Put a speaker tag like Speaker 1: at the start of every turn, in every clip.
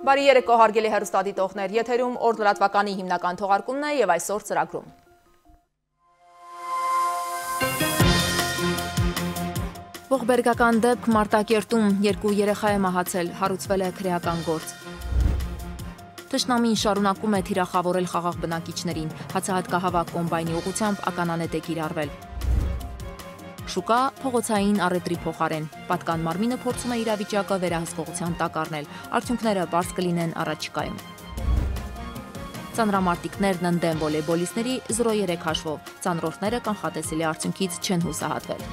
Speaker 1: Բարի երեկո հարգելի հեռուստադիտողներ, եթերում օր լրատվականի հիմնական թողարկումն է եւ այսօր ծրագրում։ Ողբերգական դեպք Մարտակերտում երկու երեխա է մահացել, հարուցվել է քրեական գործ։ Թշնամին շարունակում է թիրախավորել խաղաղ բնակիչներին, հացահատկահավաք կոմբայնի ուղղությամբ ականանետ է կիրառվել։ Շուկա փողոցային առևտրի փոխարեն, պատկան մարմինը փորձում է իրավիճակը վերահսկողության տակ առնել, արդյունքները պարզ կլինեն առաջիկայում։ Ծանրամարտիկներն ընդդեմ վոլեյբոլիստների 0-3 հաշվով, ծանրորդները կանխատեսելի արդյունքից չեն հուսահատվել։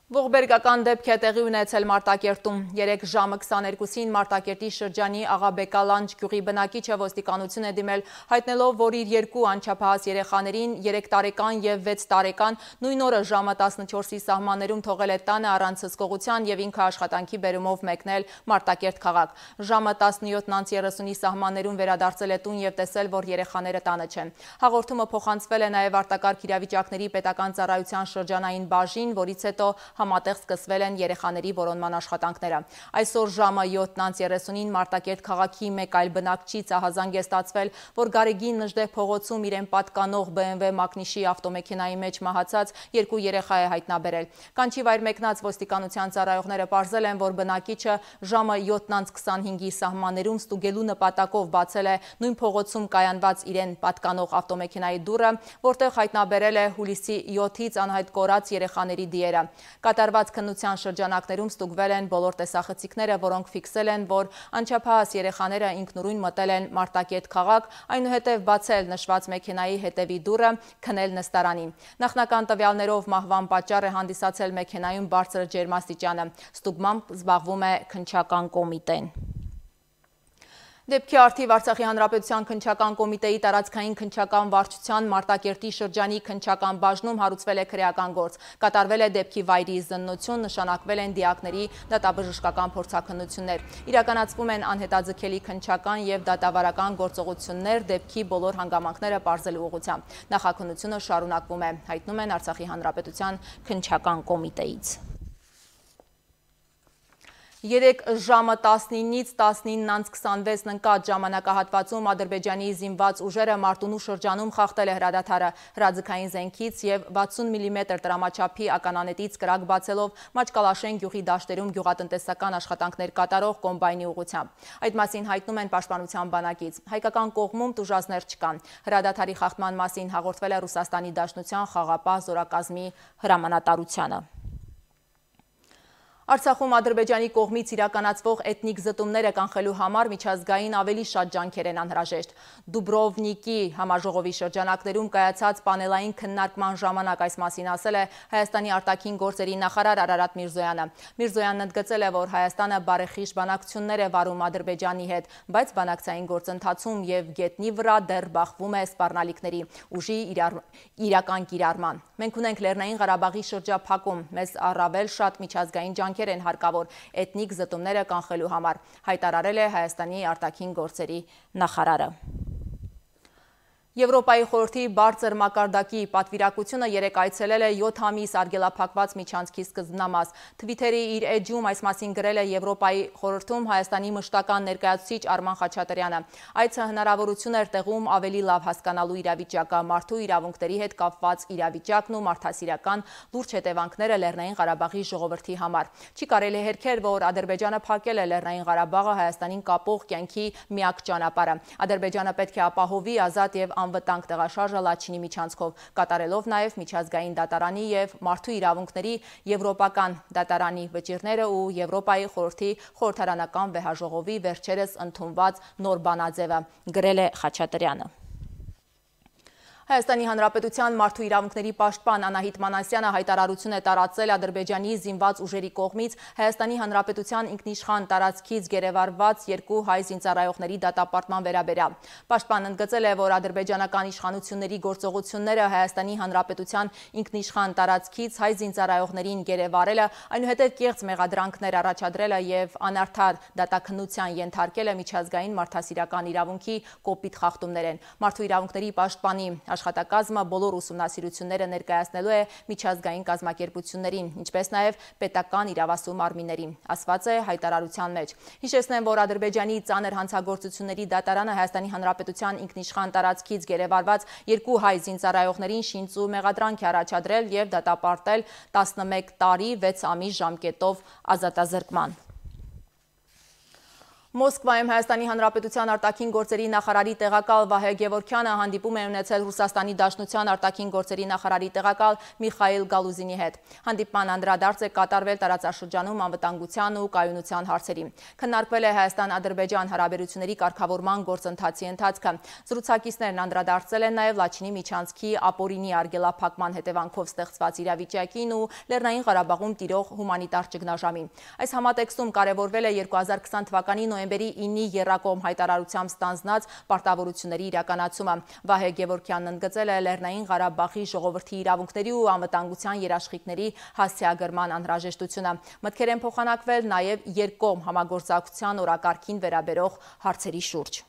Speaker 1: Ողբերգական դեպք է տեղի ունեցել Մարտակերտում։ 3 ժամը 22-ին Մարտակերտի շրջանի Աղաբեկալանջ գյուղի բնակիչը ոստիկանություն է դիմել, հայտնելով, որ իր երկու անչափահաս երեխաներին 3 տարեկան եւ 6 տարեկան նույն օրը ժամը 14-ի սահմաններում թողել է տանը առանց հսկողության եւ ինքը աշխատանքի բերումով մեկնել Մարտակերտ քաղաք։ Ժամը 17:30-ի սահմաններում վերադարձել է տուն եւ տեսել, որ երեխաները տանը չեն։ Հաղորդումը փոխանցվել է նաեւ արտակարգ իրավիճակների պետական ծառայության շրջանային բաժին, որից հետո համատեղ սկսվել են երեխաների որոնման աշխատանքները։ Այսօր ժամը 7:30-ին Մարտակերտ քաղաքի մեկ այլ բնակչի ահազանգ է ստացվել, որ Գարեգին Նժդեհ փողոցում իրեն պատկանող BMW մակնիշի ավտոմեքենայի մեջ մահացած երկու երեխա է հայտնաբերել։ Կանչի վայր մեկնած ոստիկանության ծառայողները պարզել են, որ բնակիչը ժամը 7:25-ի սահմաններում ստուգելու նպատակով բացել է նույն փողոցում կայանված իրեն պատկանող ավտոմեքենայի դուռը, որտեղ հայտնաբերել է հուլիսի 7-ից անհայտ կորած երեխաների դիերը։ Կատարված քննության շրջանակներում ստուգվել են բոլոր տեսախցիկները, որոնք ֆիքսել են, որ անչափահաս երեխաները ինքնուրույն մտել են Մարտակերտ քաղաք, այնուհետև բացել նշված մեքենայի հետևի դուռը, քնել նստարանին։ Նախնական տվյալներով մահվան պատճառ է հանդիսացել մեքենայում բարձր ջերմաստիճանը։ Ստուգմամբ զբաղվում է քննչական կոմիտեն։ Դեպքի առթիվ Արցախի Հանրապետության քննչական կոմիտեի տարածքային քննչական վարչության Մարտակերտի շրջանի քննչական բաժնում հարուցվել է քրեական գործ։ Կատարվել է դեպքի վայրի զննություն, նշանակվել են դիակների դատաբժշկական փորձաքննություններ։ Իրականացվում են անհետաձգելի քննչական եւ դատավարական գործողություններ դեպքի բոլոր հանգամանքները պարզելու ուղղությամբ։ Նախաքննությունը շարունակվում է, հայտնում են Արցախի Հանրապետության քննչական կոմիտեից։ 3 ժամը 19-ից 19:26 ընկած ժամանակահատվածում Ադրբեջանի զինված ուժերը Մարտունու շրջանում խախտել է հրադադարը հրաձգային զենքից եւ 60 մմ տրամաչափի ականանետից կրակ բացելով Մաչկալաշեն գյուղի դաշտերում գյուղատնտեսական աշխատանքներ կատարող կոմբայնի ուղղությամբ։ Այդ մասին հայտնում են Պաշտպանության բանակից։ Հայկական կողմում տուժածներ չկան։ Հրադադարի խախտման մասին հաղորդվել է Ռուսաստանի Դաշնության խաղապահ զորակազմի հրամանատարությանը։ Արցախում Ադրբեջանի կողմից իրականացվող էթնիկ զտումները կանխելու համար միջազգային ավելի շատ ջանքեր են անհրաժեշտ։ Դուբրովնիկի համաժողովի շրջանակներում կայացած պանելային քննարկման ժամանակ այս մասին ասել է Հայաստանի արտաքին գործերի նախարար Արարատ Միրզոյանը։ Միրզոյանն ընդգծել է, որ Հայաստանը բարեխիղճ բանակցություններ է վարում Ադրբեջանի հետ, բայց բանակցային գործընթացում եւ գետնի վրա դեռ բախվում է սպառնալիքների ուժի իրական կիրառման։ Մենք ունենք Լեռնային Ղարաբաղի շրջափակում, մեզ առավել շատ միջազգային ջանքեր են հարկավոր էթնիկ զտումները կանխելու համար, հայտարարել է Հայաստանի արտաքին գործերի նախարարը։ Եվրոպայի խորհրդի բարձր մակարդակի պատվիրակությունը երեկ այցելել է 7 ամիս արգելափակված միջանցքի սկզբնամաս։ Թվիթերի իր էջում այս մասին գրել է Եվրոպայի խորհրդում Հայաստանի մշտական ներկայացուցիչ Արման Խաչատրյանը։ Այցը հնարավորություն էր տեղում ավելի լավ հասկանալու իրավիճակը, մարդու իրավունքների հետ կապված իրավիճակն ու մարդասիրական լուրջ հետևանքները Լեռնային Ղարաբաղի ժողովրդի համար։ Չի կարելի հերքել, որ Ադրբեջանը փակել է Լեռնային Ղարաբաղը Հայաստանին կապող կյանքի միակ ճանապարհը։ Ադրբեջանը պետք է ապահովի ազատ եւ անվտանգ տեղաշարժը Լաչինի միջանցքով, կատարելով նաև միջազգային դատարանի եւ մարդու իրավունքների եվրոպական դատարանի վճիռները ու Եվրոպայի խորհրդի խորհրդարանական վեհաժողովի վերջերս ընդունված նոր բանաձևը, գրել է Խաչատրյանը։ Հայաստանի Հանրապետության մարդու իրավունքների պաշտպան Անահիտ Մանասյանը հայտարարություն է տարածել Ադրբեջանի զինված ուժերի կողմից Հայաստանի Հանրապետության ինքնիշխան տարածքից գերեվարված 2 հայ զինծառայողների դատապարտման վերաբերյալ։ Պաշտպանն ընդգծել է, որ ադրբեջանական իշխանությունների գործողությունները Հայաստանի Հանրապետության ինքնիշխան տարածքից հայ զինծառայողներին գերեվարելը, այնուհետև կեղծ մեղադրանքներ առաջադրելը եւ անարդար դատաքննության ենթարկելը միջազգային մարդասիրական իրավունքի կոպիտ խախտումներ են։ Մարդու իրավունքների պաշտպանի աշխատակազմը բոլոր ուսումնասիրությունները ներկայացնելու է միջազգային կազմակերպություններին, ինչպես նաև պետական իրավասու մարմիններին, ասված է հայտարարության մեջ։ Հիշեցնեմ, որ Ադրբեջանի ծանր հանցագործությունների դատարանը Հայաստանի Հանրապետության ինքնիշխան տարածքից գերեվարված 2 հայ զինծառայողներին շինծ ու մեղադրանք է առաջադրել և դատապարտել 11 տարի 6 ամիս ժամկետով ազատազրկման։ Մոսկվայում Հայաստանի Հանրապետության արտաքին գործերի նախարարի տեղակալ Վահե Գևորգյանը հանդիպում է ունեցել Ռուսաստանի Դաշնության արտաքին գործերի նախարարի տեղակալ Միխայիլ Գալուզինի հետ։ Հանդիպման անդրադարձ է կատարվել տարածաշրջանում անվտանգության ու կայունության հարցերի։ Քննարկվել է Հայաստան-Ադրբեջան հարաբերությունների կարգավորման գործընթացի ընթացքը։ Զրուցակիցներն անդրադարձել են նաև Լաչինի միջանցքի ապօրինի արգելափակման հետևանքով ստեղծված իրավիճակին ու Լեռնային Ղարաբաղում տիրող հումանիտար ճգնաժամին։ Այս համատեքստում կարևորվել է 2020 թվականի նոյեմբերի 9-ի եռակողմ հայտարարությամբ ստանձնած պարտավորությունների իրականացումը։ Վահե Գևորգյանն ընդգծել է Լեռնային Ղարաբաղի ժողովրդի իրավունքների ու անվտանգության երաշխիքների հասցեագրման անհրաժեշտությունը։ Մտքեր են փոխանակվել նաև երկկողմ համագործակցության օրակարգին վերաբերող հարցերի շուրջ։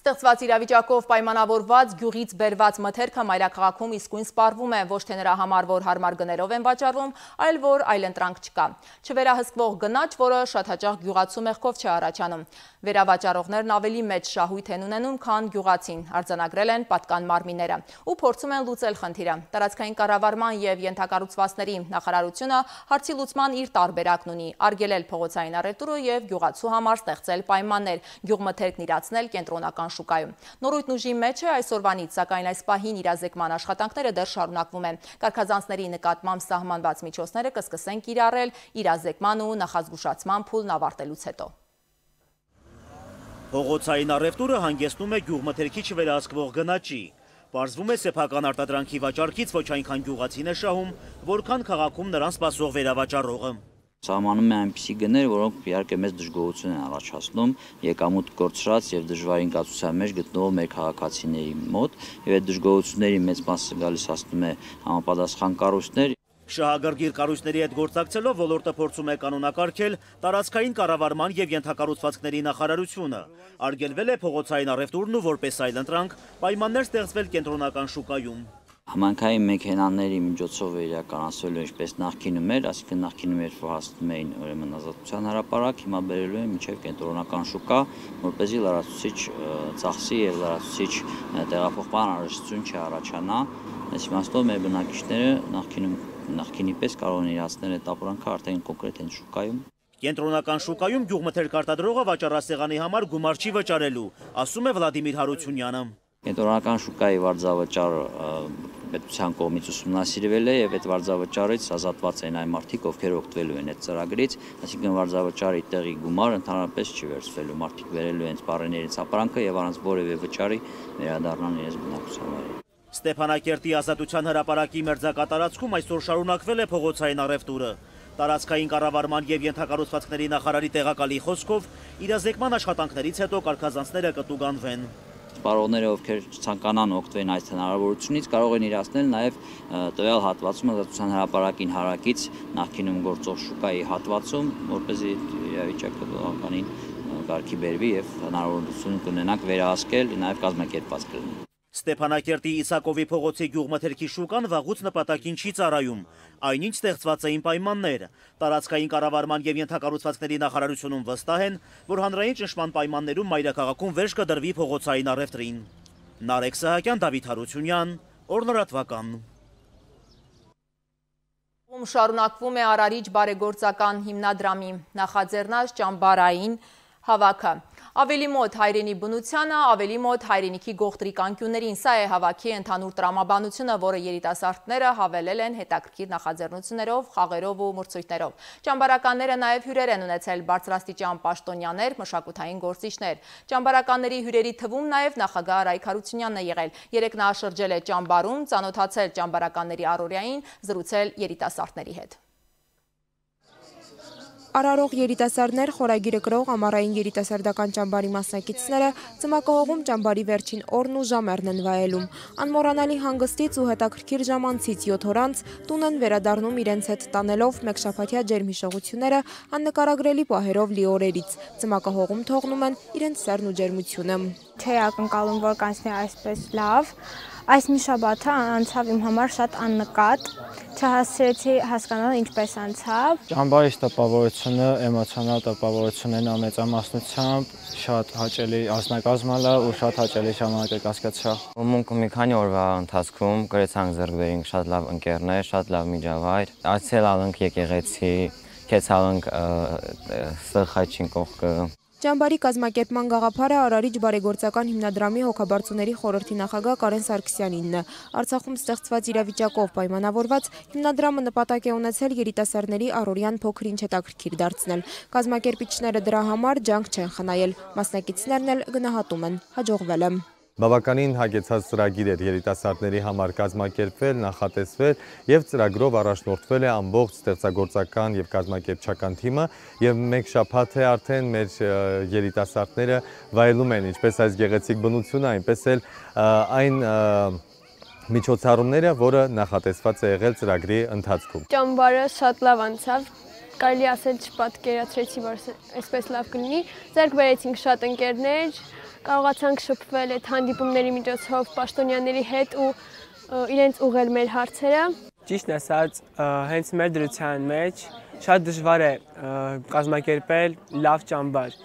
Speaker 1: Ստեղծված իրավիճակով պայմանավորված գյուղից բերված մթերքը մայրաքաղաքում իսկույն սպառվում է, ոչ թե նրա համար, որ հարմար գներով են վաճառվում, այլ որ այլընտրանք չկա։ Չվերահսկվող գնաճ, որը շատ հաճախ գյուղացու մեղքով չէ առաջանում։ Վերավաճառողներն ավելի մեծ շահույթ են ունենում, քան գյուղացին, արձանագրել են պատկան մարմինները ու փորձում են լուծել խնդիրը։ Տարածքային կառավարման և ենթակառուցվածքների նախարարությունը հարցի լուծման իր տարբերակն ունի՝ արգելել փողոցային առևտուրը և գյուղացու համար ստեղծել պայմաններ, գյուղմթերքն իրացնել կենտրոնական շուկայում։ Նորույթն ուժի մեջ է այսօրվանից, սակայն այս պահին իրազեկման աշխատանքները դեռ շարունակվում են։ Կարգազանցների նկատմամբ սահմանված միջոցները կսկսեն կիրառել իրազեկման ու նախազգուշացման փուլն ավարտելուց հետո։
Speaker 2: Փողոցային առևտուրը հանգեցնում է գյուղմթերքի չվերահսկվող գնաճի։ Պարզվում է սեփական արտադրանքի վաճառքից ոչ այնքան գյուղացին է շահում, որքան քաղաքում նրան սպասող վերավաճառողը։
Speaker 3: Սահմանում է այնպիսի գներ, որոնք իհարկե մեծ դժգոհություն են առաջացնում եկամուտ կորցրած եւ դժվար ինքնացության մեջ գտնվող մեր քաղաքացիների մոտ, եւ այդ դժգոհությունների մեծ մասը գալիս հասնում է համապատասխան կառույցներ։
Speaker 2: Շահագրգիռ կառույցների հետ գործակցելով ոլորտը փորձում է կանոնակարգել տարածքային կառավարման եւ ենթակառուցվածքների նախարարությունը։ Արգելվել է փողոցային առևտուրն ու որպես այլընտրանք պայմաններ ստեղծվել կենտրոնական շուկայում։
Speaker 3: Համանքային մեքենաների միջոցով է իրականացվելու ինչպես նախկինում էր, այսինքն նախկինում էր հասնում էին ուրեմն ազատության հրապարակ, հիմա բերելու են մինչև կենտրոնական շուկա, որպեսզի լրացուցիչ ծախսի եւ լրացուցիչ տեղափոխման անհրաժեշտություն չառաջանա։ Այս իմաստով մեր բնակիչները նախկինի պես կարող են իրացնել այդ ապրանքը արդեն կոնկրետ այն շուկայում։
Speaker 2: Կենտրոնական շուկայում գյուղմթերք արտադրողը վաճառասեղանի համար գումար չի վճարելու, ասում է Վլադիմիր Հարությունյանը։
Speaker 3: Կենտրոնական շուկայի վարձավճարը պետության կողմից ուսումնասիրվել է եւ այդ վարձավճարից ազատված են այն մարդիկ, ովքեր օգտվելու են այդ ծրագրից, այսինքն վարձավճարի տեղի գումարը ընդհանրապես չի վերցվելու, մարդիկ վերելու են սպառերից ապրանքը եւ առանց որևէ վճարի վերադառնան իրենց բնակության վայրեր։
Speaker 2: Ստեփանակերտի ազատության հրապարակի մերձակատարածքում այսօր շարունակվել է փողոցային առևտուրը։ Տարածքային կառավարման եւ ենթակառուցվածքների նախարարի տեղակալի խոսքով իրազեկման աշխատանքներից հետո կարգազանցները կտուգանվեն։
Speaker 3: Սպառողները, ովքեր ցանկանան օգտվեն այս հնարավորությունից, կարող են իրացնել նաև տվյալ հատվածում ազատության հրապարակին հարակից նախկինում գործող շուկայի հատվածում, որպեսզի իրավիճակը բավականին կարգի բերվի եւ հնարավորություն կունենանք վերահսկել նաև կազմակերպված կլինի։
Speaker 2: Ստեփանակերտի Իսակովի փողոցի գյուղմթերքի շուկան վաղուց նպատակին չի ծառայում, այնինչ ստեղծված էին պայմաններ։ Տարածքային կառավարման եւ ենթակառուցվածքների նախարարությունում վստահ են, որ հանրային ճնշման պայմաններում մայրաքաղաքում վերջ կդրվի փողոցային առևտրին։ Նարեկ Սահակյան, Դավիթ Հարությունյան, Օրնորատվական։
Speaker 1: Շարունակվում է Արարիչ բարեգործական հիմնադրամի նախաձեռնած ճամբարային հավաքը։ Ավելի մոտ հայրենի բնությանը, ավելի մոտ հայրենիքի գողտրիկ անկյուններին, սա է հավաքի ընդհանուր տրամաբանությունը, որը երիտասարդները հավելել են հետաքրքիր նախաձեռնություններով, խաղերով ու մրցույթներով։ Ճամբարականները նաև հյուրեր են ունեցել բարձրաստիճան պաշտոնյաներ, մշակութային գործիչներ։ Ճամբարականների հյուրերի թվում նաև նախագահ Արայք Հարությունյանն է եղել։ Երեկ նա շրջել է ճամբարում, ծանոթացել ճամբարականների առօրյային, զրուցել երիտասարդների հետ։
Speaker 4: Արարող երիտասարդներ խորագիրը կրող ամառային երիտասարդական ճամբարի մասնակիցները ծմակահողում ճամբարի վերջին օրն ու ժամերն են վայելում։ Անմոռանալի հանգստից ու հետաքրքիր ժամանցից 7 օր անց տուն են վերադառնում իրենց հետ տանելով մեկշաբաթյա ջերմհիշողությունները աննկարագրելի պահերով լի օրերից։ Ծմակահողում թողնում են իրենց սերն ու ջերմությունը։
Speaker 5: Չէի ակնկալում, որ կանցնի այսպես լավ։ Այս մի շաբաթը անցավ իմ համար շատ աննկատ, չհասցրեցի հասկանալ ինչպես անցավ։
Speaker 6: Ճամբարի տպավորությունը, էմոցիոնալ տպավորությունն ամենամասնությամբ շատ հաճելի ազնագազմալ է ու շատ հաճելի ժամանակ կասկածա։
Speaker 3: Մունքը մի քանի օրվա ընթացքում գրեցանք ձեռք բերենք շատ լավ ընկերներ, շատ լավ միջավայր, այցելալանք եկեղեցի, քեցալանք սխայչին կողքը։
Speaker 4: Ճամբարի կազմակերպման գաղափարը Արարիչ բարեգործական հիմնադրամի հոգաբարձուների խորհրդի նախագահ Կարեն Սարգսյանինն է։ Արցախում ստեղծված իրավիճակով պայմանավորված հիմնադրամը նպատակ է ունեցել երիտասարդների առօրյան փոքր-ինչ հետաքրքիր դարձնել։ Կազմակերպիչները դրա համար ջանք չեն խնայել, մասնակիցներն էլ գնահատում են, հաջողվել է։
Speaker 7: Բավականին հագեցած ծրագիր էր երիտասարդների համար կազմակերպվել, նախատեսվել եւ ծրագրով առաջնորդվել է ամբողջ ստեղծագործական եւ կազմակերպչական թիմը եւ մեկ շաբաթ է արդեն մեր երիտասարդները վայելում են ինչպես այս գեղեցիկ բնությունը, այնպես էլ այն միջոցառումները, որը նախատեսված է եղել ծրագրի ընթացքում։
Speaker 8: Ճամբարը շատ լավ անցավ, կարելի ասել չպատկերացրեցի, որ այսպես լավ կլինի։ Ձեռք բերեցինք շատ ընկերներ, կարողացանք շփվել այդ հանդիպումների միջոցով պաշտոնյաների հետ ու իրենց ուղղել մեր հարցերը։
Speaker 9: Ճիշտն ասած, հենց մեր դրության մեջ շատ դժվար է կազմակերպել լավ ճամբար։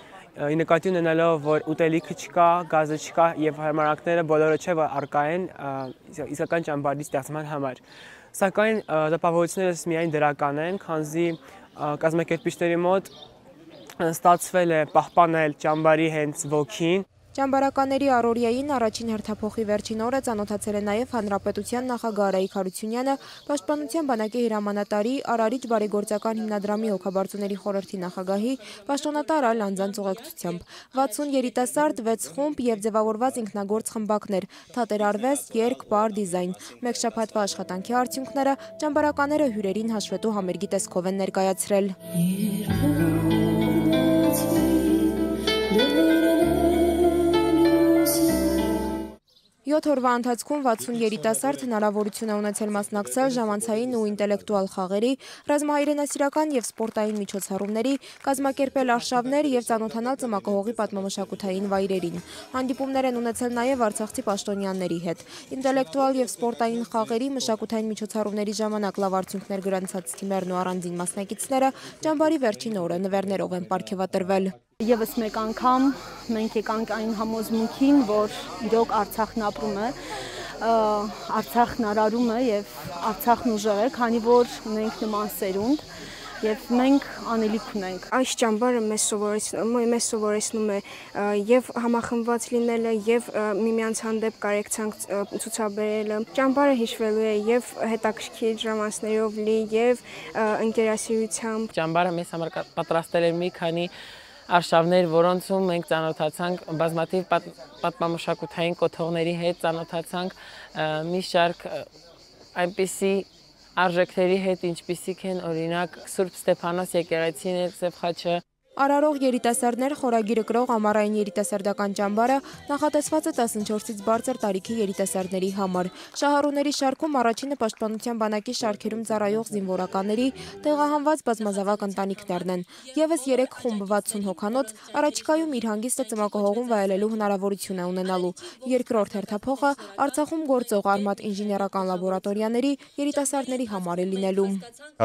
Speaker 9: Նկատի ունենալով, որ ուտելիքը չկա, գազը չկա եւ հարմարանքները բոլորը չէ, որ առկա են իսկական ճամբարի ստեղծման համար։ Սակայն տպավորություններս միայն դրական են, քանզի կազմակերպիչների մոտ ստացվել է պահպանել ճամբարի հենց ոգին։
Speaker 4: Ճամբարականների առօրյային առաջին հերթափոխի վերջին օրը ծանոթացել է նաև Հանրապետության նախագահ Արայիկ Հարությունյանը, Պաշտպանության բանակի հրամանատարի, Արարիչ բարեգործական հիմնադրամի հոգաբարձուների խորհրդի նախագահի, պաշտոնատար այլ անձանց ուղեկցությամբ։ 60 երիտասարդ, 6 խումբ եւ ձևավորված ինքնագործ խմբակներ, թատերարվեստ, երգ, պար, դիզայն։ Մեկ շաբաթվա աշխատանքի արդյունքները ճամբարականները հյուրերին հաշվետու համերգի տեսքով են ներկայացրել։ 7 օրվա ընթացքում 60 երիտասարդ հնարավորություն է ունեցել մասնակցել ժամանցային ու ինտելեկտուալ խաղերի, ռազմահայրենասիրական եւ սպորտային միջոցառումների, կազմակերպել արշավներ եւ ծանոթանալ ծմակահողի պատմամշակութային վայրերին։ Հանդիպումներ են ունեցել նաեւ արցախցի պաշտոնյաների հետ։ Ինտելեկտուալ եւ սպորտային խաղերի, մշակութային միջոցառումների ժամանակ լավ արդյունքներ գրանցած թիմերն ու առանձին մասնակիցները ճամբարի վերջին օրը նվերներով են պարգևատրվել։
Speaker 8: Եվս մեկ անգամ մենք եկանք այն համոզմունքին, որ իրոք Արցախն ապրում է, Արցախն արարում է եւ Արցախն ուժեղ է, քանի որ ունենք նման սերունդ եւ մենք անելիք ունենք։
Speaker 5: Այս ճամբարը մեզ սովորեցնում է եւ համախմբված լինելը եւ միմյանց հանդեպ կարեկցանք ցուցաբերելը։ Ճամբարը հիշվելու է եւ հետաքրքիր ժամանցներով լի եւ ընկերասիրությամբ։
Speaker 9: Ճամբարը մեզ համար պատրաստել է մի քանի արշավներ, որոնցում մենք ծանոթացանք բազմաթիվ պատմամշակութային կոթողների հետ, ծանոթացանք մի շարք այնպիսի արժեքների հետ, ինչպիսիք են օրինակ Սուրբ Ստեփանոս եկեղեցին, Սև խաչը։
Speaker 4: Արարող երիտասարդներ խորագիրը կրող ամառային երիտասարդական ճամբարը նախատեսված է 14-ից բարձր տարիքի երիտասարդների համար։ Շահառուների շարքում առաջինը Պաշտպանության բանակի շարքերում ծառայող զինվորականների տեղահանված բազմազավակ ընտանիքներն են։ Եվս 3 խումբ 60 հոգանոց առաջիկայում իր հանգիստը ծմակահողում վայելելու հնարավորություն է ունենալու։ Երկրորդ հերթափոխը Արցախում գործող Արմատ ինժեներական լաբորատորիաների երիտասարդների համար է լինելու։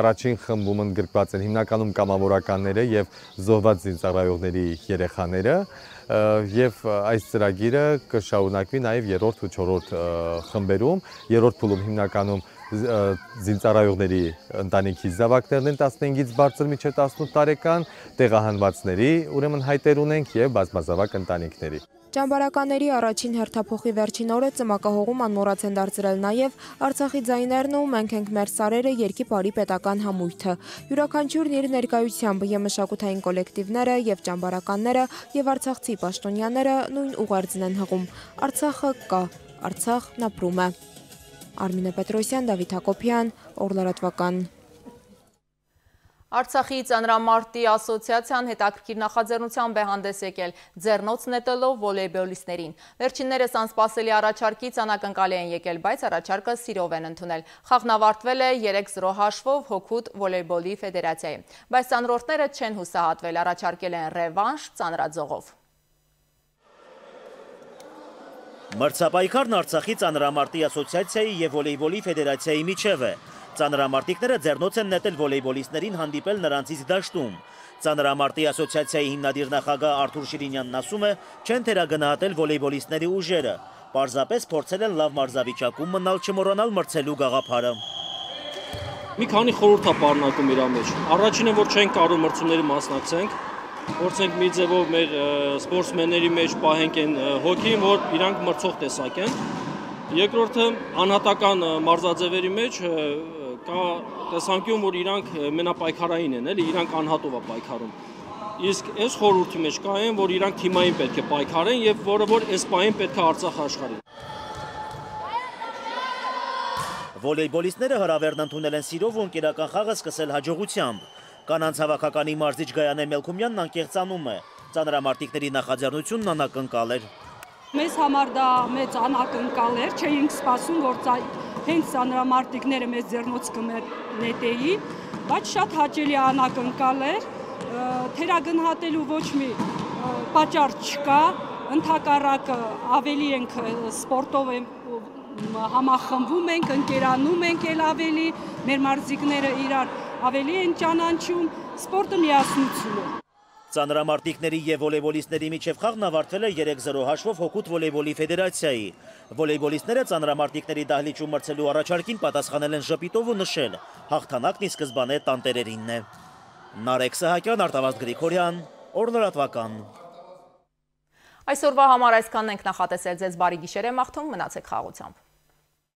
Speaker 7: Առաջին խմբում ընդգրկված են հիմնականում կամավորականները եւ զոհված զինծառայողների երեխաները եւ այս ծրագիրը կշարունակվի նաեւ 3-րդ ու 4-րդ խմբերում։ Երրորդ փուլում հիմնականում զինծառայողների ընտանիքի զավակներն են 15-ից բարձր մինչեւ 18 տարեկան, տեղահանվածների ուրեմն հայտեր ունենք եւ բազմազավակ ընտանիքների։
Speaker 4: Ճամբարականների առաջին հերթափոխի վերջին օրը ծմակահողում անմոռաց են դարձրել նաև Արցախի ձայներն ու Մենք ենք մեր սարերը երգի պարի պետական համույթը։ Յուրաքանչյուրն իր ներկայությամբ եւ մշակութային կոլեկտիվները եւ ճամբարականները եւ արցախցի պաշտոնյաները նույն ուղերձն են հղում։ Արցախը կա, Արցախն ապրում է։ Արմինե Պետրոսյան, Դավիթ Հակոբյան, Օր լրատվական։
Speaker 1: Արցախի ծանրամարտի ասոցիացիան հետաքրքիր նախաձեռնությամբ է հանդես եկել ձեռնոց նետելով վոլեյբոլիստներին։ Վերջիններս անսպասելի առաջարկից անակնկալի են եկել, բայց առաջարկը սիրով են ընդունել։ Խաղն ավարտվել է 3-0 հաշվով Հօգուտ վոլեյբոլի ֆեդերացիայի, բայց ծանրորդները չեն հուսահատվել, առաջարկել են ռևանշ ծանրաձողով։
Speaker 2: Մրցապայքարն Արցախի ծանրամարտի ասոցիացիայի և վոլեյբոլի ֆեդերացիայի միջև է։ Ծանրամարտիկները ձեռնոց են նետել վոլեյբոլիստներին հանդիպել նրանցից դաշտում։ Ծանրամարտի ասոցիացիայի հիմնադիր նախագահ Արթուր Շիրինյանն ասում է, չեն թերագնահատել վոլեյբոլիստների ուժերը, պարզապես փորձել են լավ մարզավիճակում մնալ, չմոռանալ մրցելու գաղափարը։
Speaker 10: Մի քանի խորհուրդ է պարունակում իր մեջ։ Առաջինը, որ չենք կարող մրցումների մասնակցենք, փորձենք մի ձևով մեր սպորտսմենների մեջ պահենք այն հոգին, որ իրանք մրցող տեսակ են։ Երկրորդը, անհատական մարզաձևերի մեջ կա տեսանկյուն, որ իրանք մենապայքարային են, իրանք անհատով է պայքարում։ Իսկ այս խորհրդի մեջ կա այն, որ իրանք թիմային պետք է պայքարեն եւ որը որ այս պահին պետք է Արցախ աշխարհին։
Speaker 2: Վոլեյբոլիստները հրավերն ընդունել են սիրով ու ընկերական խաղը սկսել հաջողությամբ։ Կանանց հավաքականի մարզիչ Գայանե Մելքումյանն անկեղծանում է։ Ծանրամարտիկների նախաձեռնությունն անակնկալ էր։
Speaker 11: Մեզ համար դա մեծ անակնկալ էր, չէինք սպասում, որ հենց ծանրամարտիկները մեզ ձեռնոց կնետեի, բայց շատ հաճելի անակնկալ էր, թերագնահատելու ոչ մի պատճառ չկա, ընդհակառակը ավելի ենք սպորտով համախմբվում ենք, ընկերանում ենք էլ ավելի, մեր մարզիկները իրար ավելի են ճանաչում, սպորտը միասնություն է։
Speaker 2: Ծանրամարտիկների և վոլեյբոլիստների միջև խաղն ավարտվել է 3-0 հաշվով Հօգուտ վոլեյբոլի ֆեդերացիայի։ Վոլեյբոլիստները ծանրամարտիկների դահլիճում մրցելու առաջարկին պատասխանել են ժպիտով ու նշել, հաղթանակն ի սկզբանե տանտերերինն է։ Նարեկ Սահակյան, Արտավազդ Գրիգորյան, Օրլրատվական։
Speaker 1: Այսօրվա համար այսքանն ենք նախատեսել, ձեզ բարի գիշեր եմ մաղթում, մնացեք խաղաղությամբ։